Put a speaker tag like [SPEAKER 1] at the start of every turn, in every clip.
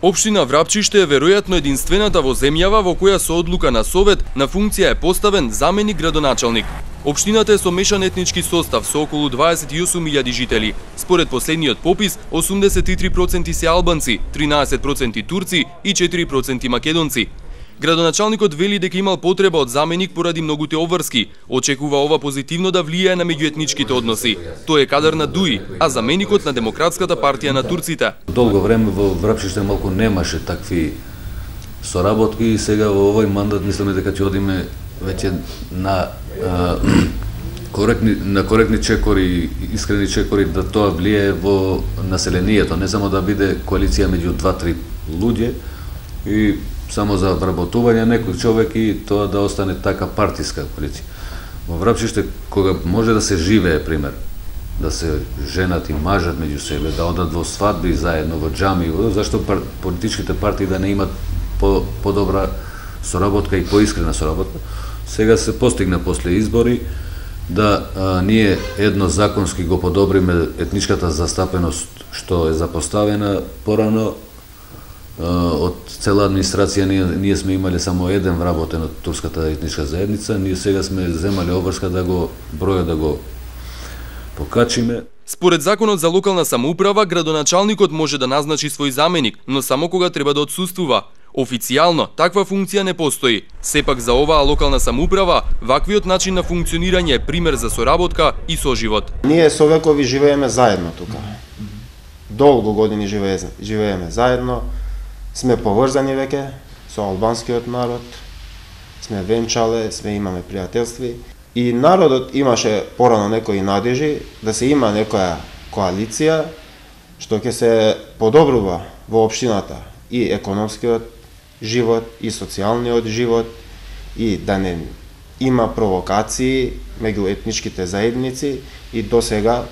[SPEAKER 1] Општина Врапчиште е веројатно единствената во земјава во која со одлука на совет на функција е поставен заменик градоначалник. Општината е со мешан етнички состав со околу 28.000 жители. Според последниот попис, 83% се албанци, 13% турци и 4% македонци. Градоначалникот вели дека имал потреба од заменик поради многуте обврски. Очекува ова позитивно да влијае на меѓуетничките односи. Тој е кадар на ДУИ, а заменикот на Демократската партија на турците.
[SPEAKER 2] Долго време во Врапчиште малку немаше такви соработки и сега во овој мандат мислиме дека ќе одиме веќе на коректни чекори, искрени чекори да тоа влијае во населението, не само да биде коалиција меѓу 2-3 луѓе и само за вработување некој човек и тоа да остане така партиска коалиција. Во Врапчиште, кога може да се живее, пример, да се женат и мажат меѓу себе, да одат во свадби заедно, во џами, зашто политичките партии да не имат подобра соработка и поискрена соработка. Сега се постигна после избори да ние едно законски го подобриме етничката застапеност што е запоставена порано. Од цела администрација ние сме имале само еден вработен од турската етничка заедница, ние сега сме земале обврска да го бројот да го покачиме.
[SPEAKER 1] Според законот за локална самоуправа, градоначалникот може да назначи свој заменик, но само кога треба да отсуствува. Официјално, таква функција не постои. Сепак за оваа локална самоуправа, ваквиот начин на функционирање е пример за соработка и соживот.
[SPEAKER 3] Ние со векови живееме заедно тука. Долго години живееме заедно. Сме поврзани веќе со албанскиот народ, сме венчале, имаме пријателстви и народот имаше порано некои надежи да се има некоја коалиција што ќе се подобрува во општината и економскиот живот и социјалниот живот и да не има провокации меѓу етничките заедници и до сега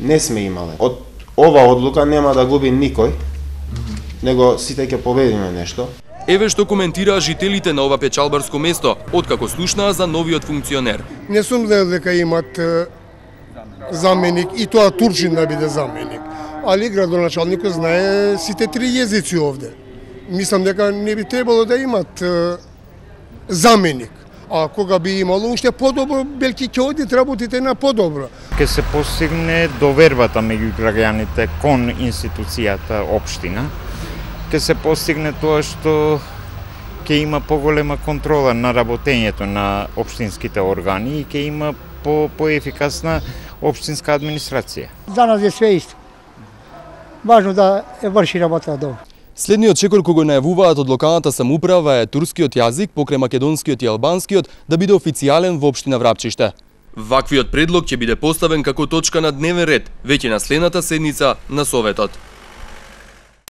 [SPEAKER 3] не сме имале. Од ова одлука нема да губи никој, него сите ќе победиме нешто.
[SPEAKER 1] Еве што коментираа жителите на ова печалбарско место, откако слушнаа за новиот функционер.
[SPEAKER 4] Не сум знаел дека имат заменик и тоа турчин да биде заменик. Али градоначалникот знае сите три језици овде. Мислам дека не би требало да имат заменик. А кога би имало уште подобро, белки ќе одат работите на подобро.
[SPEAKER 5] Ке се постигне довербата меѓу граѓаните кон институцијата општина. Ке се постигне тоа што ќе има поголема контрола на работењето на општинските органи и ќе има поефикасна општинска администрација.
[SPEAKER 6] За нас е све исто. Важно да врши работа добро.
[SPEAKER 1] Следниот чекор кој го најавуваат од локалната самоуправа е турскиот јазик покрај македонскиот и албанскиот да биде официјален во општина Врапчиште. Ваквиот предлог ќе биде поставен како точка на дневен ред веќе на следната седница на Советот.